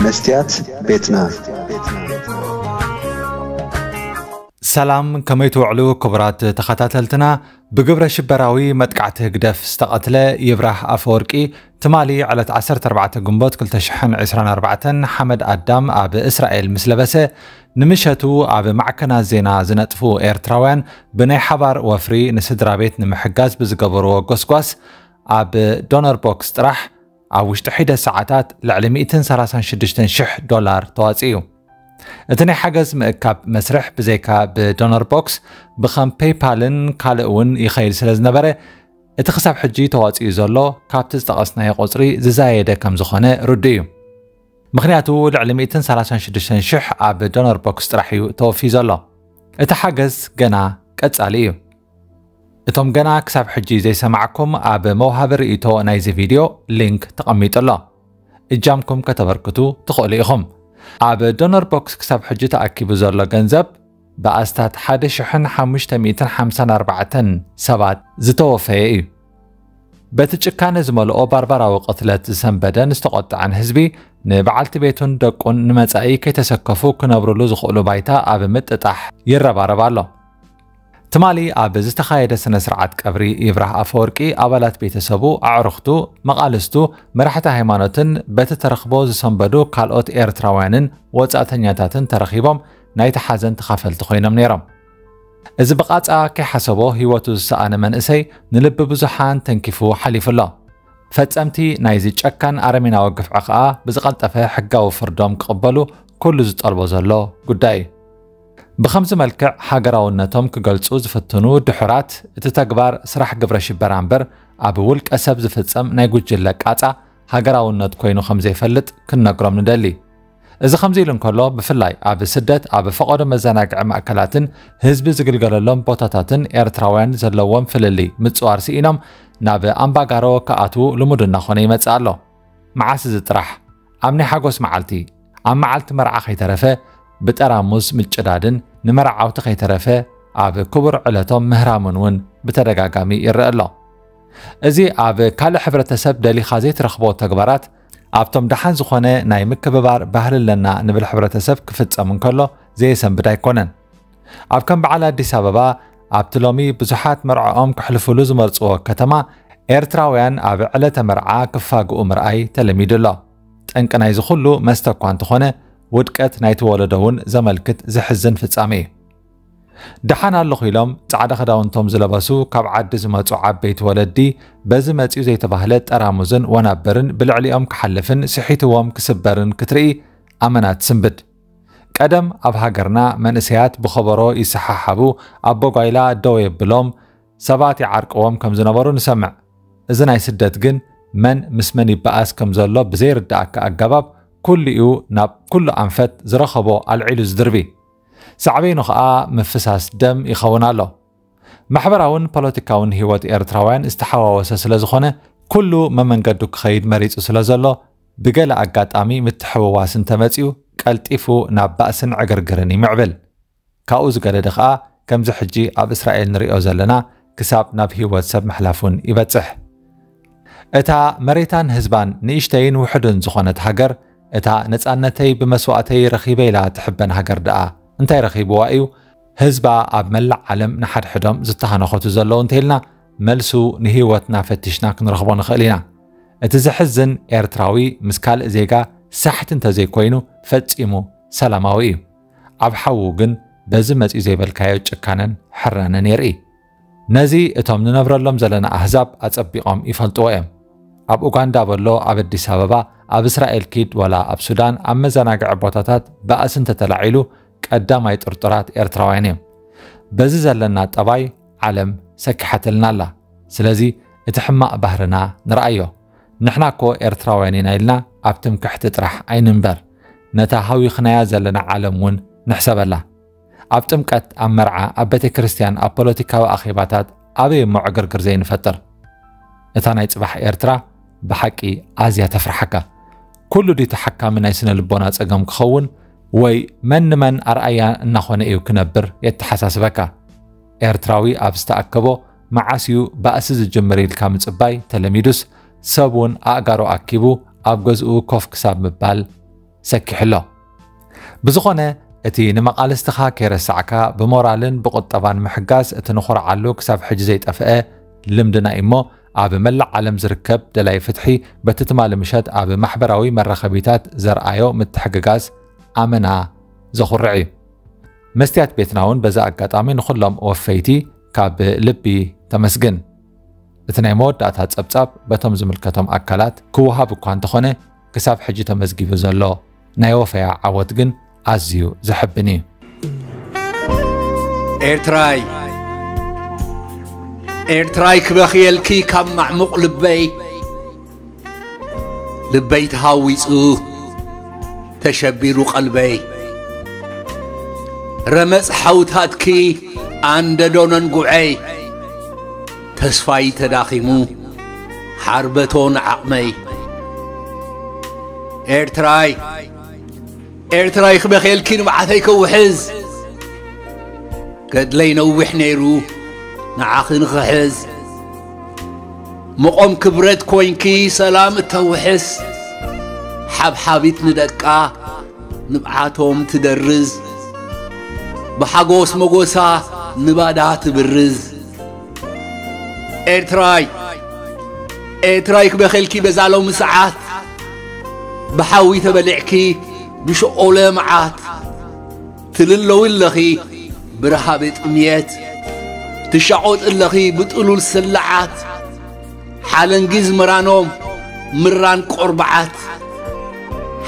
መስትያት ቤትና። ሰላም፣ ከመይ ትውዕሉ ክቡራት ተኸታተልትና? ብግብረ ሽበራዊ መጥቃዕቲ ህግደፍ ዝተቐትለ ይብራህ ኣፈወርቂ ትማሊ ዕለት ዓሰርተ ኣርባዕተ ግንቦት ክልተ ሽሕን ዕስራን ኣርባዕተን ሓመድ ኣዳም ኣብ እስራኤል ምስ ለበሰ፣ ንምሸቱ ኣብ ማዕከናት ዜና ዝነጥፉ ኤርትራውያን ብናይ ሓባር ወፍሪ ንስድራ ቤት ንምሕጋዝ ብዝገበርዎ ጎስጓስ፣ ኣብ ዶነር ቦክስ ጥራሕ ኣብ ውሽጢ ሒደት ሰዓታት ልዕሊ ሚእትን ሰላሳን ሽዱሽተን ሽሕ ዶላር ተዋጺኡ እዩ። እቲ ናይ ሓገዝ ምእካብ መስርሕ ብዘይካ ብዶነር ቦክስ ብከም ፔይፓልን ካልእ እውን ይኸይድ ስለ ዝነበረ፣ እቲ ክሳብ ሕጂ ተዋጺኡ ዘሎ ካብቲ ዝጠቐስናዮ ቁጽሪ ዝዛየደ ከም ዝኾነ ርዱእ እዩ። ምኽንያቱ ልዕሊ ሚእትን ሰላሳን ሽዱሽተን ሽሕ ኣብ ዶነር ቦክስ ጥራሕ እዩ ተወፊዩ ዘሎ። እቲ ሓገዝ ገና ቀጻሊ እዩ። እቶም ገና ክሳብ ሕጂ ዘይሰማዕኩም፣ ኣብ መውሃቢ ርእይቶ ናይዚ ቪድዮ ሊንክ ተቐሚጡ ኣሎ። እጃምኩም ከተበርክቱ ትኽእሉ ኢኹም። ኣብ ዶነር ቦክስ ክሳብ ሕጂ ተኣኪቡ ዘሎ ገንዘብ ብኣስታት ሓደ ሽሕን ሓሙሽተ ሚእትን ሓምሳን ኣርባዕተን ሰባት ዝተወፈየ እዩ። በቲ ጭካነ ዝመልኦ ባርባራዊ ቅትለት ዝሰንበደን ዝተቖጥዐን ህዝቢ፣ ንበዓልቲ ቤቱን ደቁን ንመጻኢ ከይተሰከፉ ክነብርሉ ዝኽእሉ ባይታ ኣብ ምጥጣሕ ይረባረብ ኣሎ። ትማሊ ኣብ ዝተኻየደ ስነ ስርዓት ቀብሪ ይብራህ ኣፈወርቂ፣ ኣባላት ቤተሰቡ፣ ኣዕሩኽቱ፣ መቓልስቱ፣ መራሕቲ ሃይማኖትን በቲ ተረኽቦ ዝሰንበዱ ካልኦት ኤርትራውያንን ወጻእተኛታትን ተረኺቦም ናይቲ ሓዘን ተኻፈልቲ ኮይኖም ነይሮም። እዚ ብቓጻ ከይሓሰቦ ህይወቱ ዝሰኣነ መንእሰይ ንልቢ ብዙሓን ተንኪፉ ሓሊፉ ኣሎ። ፈጸምቲ ናይዚ ጨካን ኣረሜናዊ ግፍዒ ከኣ ብዝቐልጠፈ ሕጋዊ ፍርዶም ክቕበሉ ኩሉ ዝጠልቦ ዘሎ ጉዳይ እዩ። ብኸምዚ መልክዕ ሃገራውነቶም ክገልጹ ዝፍትኑ ድሑራት፣ እቲ ተግባር ስራሕ ግብረ ሽበራ እምበር ኣብ ውልቀ ሰብ ዝፍጸም ናይ ጉጅለ ቃጻ ሃገራውነት ኮይኑ ከም ዘይፈልጥ ክንነግሮም ንደሊ። እዚ ከምዚ ኢሉ እንከሎ፣ ብፍላይ ኣብ ስደት ኣብ ፈቐዶ መዘናግዒ ማእከላትን ህዝቢ ዝግልገለሎም ቦታታትን ኤርትራውያን ዘለዎም ፍልልይ ምጽዋር ስኢኖም ናብ ኣምባጋሮ ክኣትዉ ልሙድ እናኾነ ይመጽእ ኣሎ። መዓስ እዚ ጥራሕ? ኣብ ናይ ሓጎስ መዓልቲ፣ ኣብ መዓልቲ መርዓ ከይተረፈ ብጠራሙዝ ምጭዳድን ንመርዓውቲ ከይተረፈ ኣብ ክቡር ዕለቶም ምህራምን እውን ብተደጋጋሚ ይረአ ኣሎ። እዚ ኣብ ካልእ ሕብረተሰብ ደሊኻ ዘይትረኽቦ ተግባራት ኣብቶም ደሓን ዝኾነ ናይ ምክብባር ባህሊ ኣለና ንብል ሕብረተሰብ ክፍጸም እንከሎ ዘየሰንብድ ኣይኮነን። ኣብ ከም በዓል ኣዲስ ኣበባ፣ ኣብቲ ሎሚ ብዙሓት መርዕኦም ከሕልፉሉ ዝመርጽዎ ከተማ፣ ኤርትራውያን ኣብ ዕለተ መርዓ ክፋግኡ ምርኣይ ተለሚዱ ኣሎ። ጠንቂ ናይዚ ኩሉ መስተ እኳ እንተኾነ፣ ውድቀት ናይቲ ወለዶ እውን ዘመልክት ዘሕዝን ፍጻሜ እዩ። ደሓን ኣለኹ ኢሎም ጻዕዳ ክዳውንቶም ዝለበሱ ካብ ዓዲ ዝመጹ ዓበይቲ ወለዲ፣ በዚ መጺኡ ዘይተባህለ ጠራሙዝን ወናብርን ብልዕሊኦም ክሓልፍን ስሒትዎም ክስበርን ክትርኢ ኣመና ትስንብድ። ቀደም ኣብ ሃገርና መንእሰያት ብኸበሮ ይሰሓሓቡ፣ ኣቦ ጓይላ ደው የብሎም፣ ሰባት ይዓርቅዎም ከም ዝነበሩ ንሰምዕ። እዚ ናይ ስደት ግን መን ምስ መን ይበኣስ ከም ዘሎ ብዘይርድኣካ ኣገባብ ኩሉ'ዩ ናብ ኩሉ ኣንፈት ዝረኸቦ ኣልዒሉ ዝድርቢ። ሳዕቤኑ ኸኣ ምፍሳስ ደም ይኸውን ኣሎ። ማሕበራውን ፖለቲካውን ህይወት ኤርትራውያን ዝተሓዋወሰ ስለ ዝኾነ፣ ኩሉ መመንገዱ ክኸይድ መሪጹ ስለ ዘሎ፣ ብገለ ኣጋጣሚ ምትሕውዋስ እንተመጺኡ፣ ቀልጢፉ ናብ ባእስን ዕግርግርን ይምዕብል። ካብኡ ዝገደደ ኸኣ፣ ከምዚ ሕጂ ኣብ እስራኤል ንሪኦ ዘለና፣ ክሳብ ናብ ህይወት ሰብ ምሕላፍ እውን ይበጽሕ። እታ መሬታን ህዝባን ንእሽተይን ውሑድን ዝኾነት ሃገር፣ እታ ነጻነተይ ብመስዋእተይ ረኺበ ኢላ ትሕበን ሃገር ደኣ እንታይ ረኺብዋ እዩ? ህዝባ ኣብ መላእ ዓለም ንሓድሕዶም ዝተሃነኸቱ ዘለዉ እንተኢልና፣ መልሱ ንህይወትና ፈቲሽና ክንረኽቦ ንኽእል ኢና። እቲ ዘሕዝን፣ ኤርትራዊ ምስ ካልእ ዜጋ ሳሕቲ እንተዘይኮይኑ፣ ፈጺሙ ሰላማዊ እዩ። ኣብ ሓዉ ግን በዚ መጺኡ ዘይበልካዮ ጭካነን ሕራነን የርኢ። ነዚ እቶም ንነብረሎም ዘለና ኣህዛብ ኣጸቢቖም ይፈልጥዎ እዮም። ኣብ ኡጋንዳ በሎ፣ ኣብ ኣዲስ ኣበባ፣ ኣብ እስራኤል ኪድ፣ ወላ ኣብ ሱዳን፣ ኣብ መዘናግዒ ቦታታት ባእሲ እንተተላዒሉ፣ ቀዳማይ ጥርጡራት ኤርትራውያን እዮም። በዚ ዘለና ጠባይ ዓለም ሰኪሓትልና ኣላ። ስለዚ እቲ ሕማቕ ባህርና ንርኣዮ። ንሕና እኮ ኤርትራውያን ኢና ኢልና ኣብ ትምክሕቲ ጥራሕ ኣይንንበር። ነታ ሃዊኽናያ ዘለና ዓለም እውን ንሕሰበላ። ኣብ ጥምቀት፣ ኣብ መርዓ፣ ኣብ ቤተ ክርስቲያን፣ ኣብ ፖለቲካዊ ኣኼባታት ኣበይ እሞ ዕግርግር ዘይንፈጥር? እታ ናይ ጽባሕ ኤርትራ ብሓቂ ኣዝያ ተፍርሓካ። ኩሉ ድዩ ተሓካሚ ናይ ስነ ልቦና ጸገም ክኸውን? ወይ መን ንመን ኣርኣያ እናኾነ እዩ ክነብር የተሓሳስበካ? ኤርትራዊ ኣብ ዝተኣከቦ መዓስ እዩ ባእሲ ዝጅምር ኢልካ ምጽባይ ተለሚዱስ፣ ሰብ እውን ኣእጋሩ ኣኪቡ ኣብ ገዝኡ ኮፍ ክሳብ ምባል ሰኪሑ ኣሎ። ብዝኾነ፣ እቲ ንመቓልስትኻ ከይረሳዕካ ብሞራልን ብቑጠባን ምሕጋዝ እቲ ንኹርዓሉ ክሳብ ሕጂ ዘይጠፍአ ልምድና እዩ እሞ፣ ኣብ መላእ ዓለም ዝርከብ ደላይ ፍትሒ በቲ ትማሊ ምሸት ኣብ ማሕበራዊ መራኸቢታት ዘርኣዮ ምትሕግጋዝ ኣመና ዘኹርዕ እዩ። መስትያት ቤትና እውን በዚ ኣጋጣሚ ንኹሎም ወፈይቲ ካብ ልቢ ተመስግን። እቲ ናይ መወዳእታ ጸብጻብ በቶም ዝምልከቶም ኣካላት ክወሃብ እኳ እንተኾነ፣ ክሳብ ሕጂ ተመዝጊቡ ዘሎ ናይ ወፈያ ዓወት ግን ኣዝዩ ዘሐብን እዩ። ኤርትራይ፣ ኤርትራይ ክበኽየልኪ ካብ ማዕሙቕ ልበይ፣ ልበይ ተሃዊጹ ተሸቢሩ ቀልበይ። ረመጽ ሓውታትኪ ኣንደዶ ነንጉዐይ፣ ተስፋይ ተዳኺሙ ሓርበቶ ንዓቕመይ። ኤርትራይ፣ ኤርትራይ ክበኽየልኪ ንብዓተይ ከውሕዝ፣ ገድለይ ነዊሕ ነይሩ ንዓኺ ንኽሕዝ። መቖም ክብረት ኮይንኪ ሰላም እተውሕስ፣ ሓብሓቢት ንደቃ ንብዓቶም ትደርዝ፣ ብሓጎስ መጎሳ ንባዳ ትብርዝ። ኤርትራይ፣ ኤርትራይ ክበኽየልኪ በዛ ሎሚ ሰዓት፣ ብሓዊ ተበሊዕኪ ብሸኦለ መዓት። ትልለዊ ኣለኺ ብረሃብ ጥምየት፣ ትሻቖጥ ኣለኺ ብጥሉል ስልዓት። ሓለንጊ ዝምራኖም ምራን ቆርበዓት፣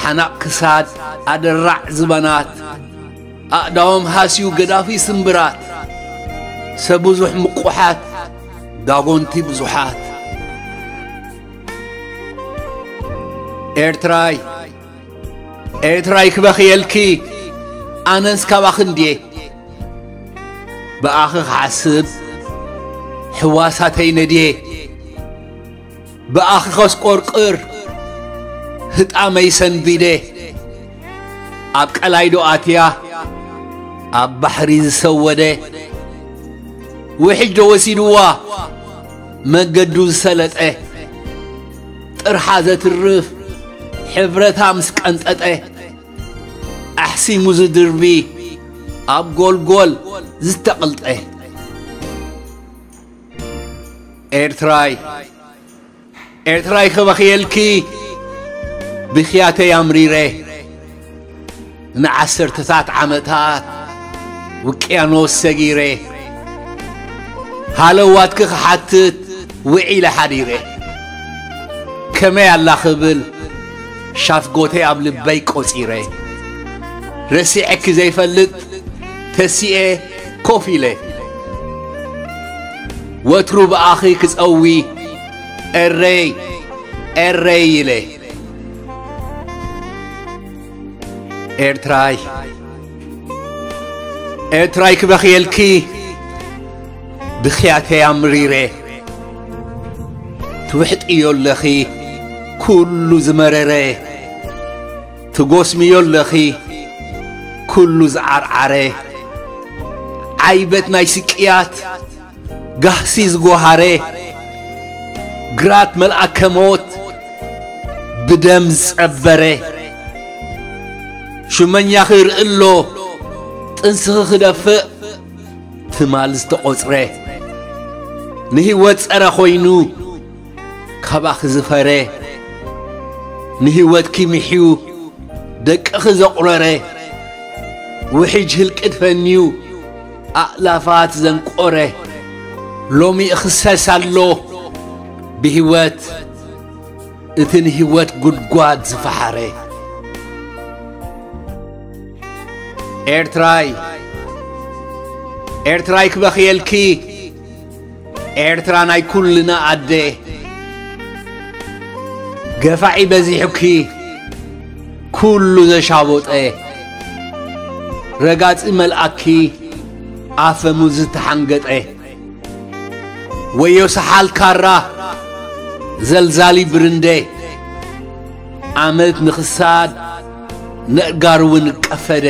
ሓናቕ ክሳድ ኣደራዕ ዝበናት፣ ኣእዳዎም ሃስዩ ገዳፊ ስምብራት፣ ሰብ ብዙሕ ምቁሓት ዳጎንቲ ብዙሓት። ኤርትራይ፣ ኤርትራይ ክበኽየልኪ ኣነስ ካባኺ እንድየ፣ ብኣኺ ክሓስብ ሕዋሳተይ ነድየ። ብኣኺ ከስቆርቅር ህጣመይ ሰንቢደ፣ ኣብ ቀላይ ዶ ኣትያ ኣብ ባሕሪ ዝሰወደ፣ ውሕጅ ዶ ወሲድዋ መንገዱ ዝሰለጠ፣ ጥርሓ ዘትርፍ ሕብረታ ምስ ቀንጠጠ፣ ኣሕሲሙ ዝድርቢ ኣብ ጎልጎል ዝተቐልጠ። ኤርትራይ፣ ኤርትራይ ክበኽየልኪ ብኽያተይ ኣምሪረ፣ ንዓሰርተታት ዓመታት ውቅያኖስ ሰጊረ፣ ሃለዋትኪ ክሓትት ውዒለ ሓዲረ። ከመይ ኣላ ክብል ሻፍጎተይ ኣብ ልበይ ቆጺረ፣ ረሲዐኪ ዘይፈልጥ ተሲኤ ኮፍ ኢለ፣ ወትሩ ብኣኺ ክጸዊ ኤረይ ኤረይ ኢለ። ኤርትራይ፣ ኤርትራይ ክበኽየልኪ ብኽያተይ ኣምሪረ፣ ትውሕጥዮ ኣለኺ ኩሉ ዝመረረ፣ ትጎስምዮ ኣለኺ ኩሉ ዝዓርዓረ፣ ዓይበት ናይ ስቅያት ጋህሲ ዝጎሃረ፣ ግራት መልኣከ ሞት ብደም ዝጸበረ፣ ሹመኛኺ ርእሎ ጥንስኺ ክደፍእ ትማል ዝተቖጽረ፣ ንህይወት ጸረ ኮይኑ ካባኺ ዝፈረ፣ ንህይወትኪ ምሕዩ ደቅኺ ዘቑረረ፣ ውሕጅ ህልቅት ፈንዩ ኣእላፋት ዘንቆረ፣ ሎሚ ይኽሰስ ኣሎ ብህይወት እቲ ንህይወት ጉድጓድ ዝፈሓረ። ኤርትራይ፣ ኤርትራይ ክበኽየልኪ ኤርትራ ናይ ኩልና ኣደ፣ ገፋዒ በዚሑኪ ኩሉ ዘሻቦጠ፣ ረጋጺ መልኣኪ ኣፈሙዝ ዝተሓንገጠ፣ ወዮ ሰሓል ካራ ዘልዛሊ ብርንደ፣ ዓመት ንኽሳድ ነእጋር እውን ቀፈደ፣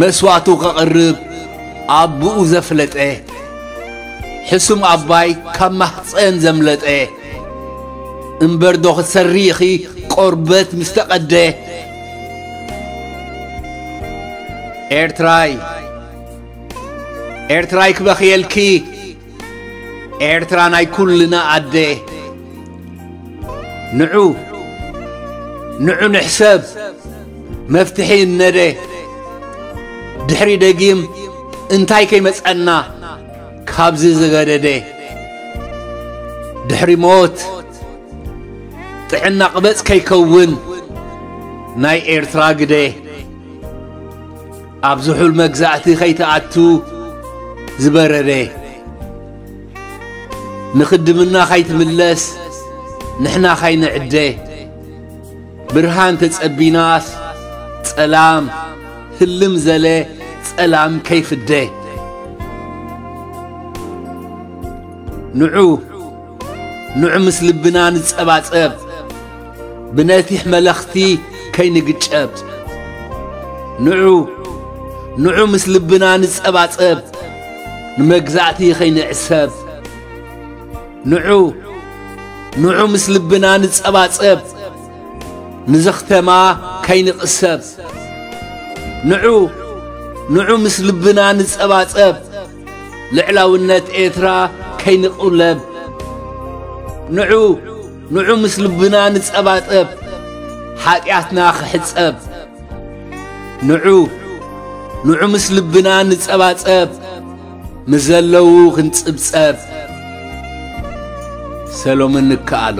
መስዋእቱ ከቕርብ ኣቦኡ ዘፍለጠ፣ ሕሱም ኣባይ ካብ ማህፀን ዘምለጠ፣ እምበር ዶ ክትሰሪ ኢኺ ቆርበት ምስ ተቐደ፣ ኤርትራይ፣ ኤርትራይ ክበኽየልኪ፣ ኤርትራ ናይ ኩልና ኣደ። ንዑ፣ ንዑ ንሕሰብ፣ መፍትሒ እነደ። ድሕሪ ደጊም እንታይ ከይመጸና ካብዚ ዝገደደ? ድሕሪ ሞት ጥዕና ቅበጽ ከይከውን ናይ ኤርትራ ግደ። ኣብ ዝሑል መግዛእቲ ከይትኣቱ ዝበረደ። ንኽድምና ከይትምለስ ንሕና ከይንዕደ። ብርሃን ተጸቢናስ ጸላም ህልም ዘለ ጸላም ከይፍደ። ንዑ፣ ንዑ ምስ ልብና ንጸባጸብ፣ ብነቲሕ መለኽቲ ከይንግጨብ። ንዑ፣ ንዑ ምስ ልብና ንጸባጸብ፣ ንመግዛእቲ ከይንዕሰብ። ንዑ፣ ንዑ ምስ ልብና ንጸባጸብ፣ ንዘኽተማ ከይንቕሰብ። ንዑ፣ ንዑ ምስ ልብና ንጸባጸብ፣ ልዕላውነት ኤርትራ ከይንቑለብ። ንዑ፣ ንዑ ምስ ልብና ንጸባጸብ፣ ሓጢኣትና ክሕጸብ። ንዑ፣ ንዑ ምስ ልብና ንጸባጸብ፣ ምስ ዘለዉ ክንጽብጸብ። ሰሎምን ንከኣሎ።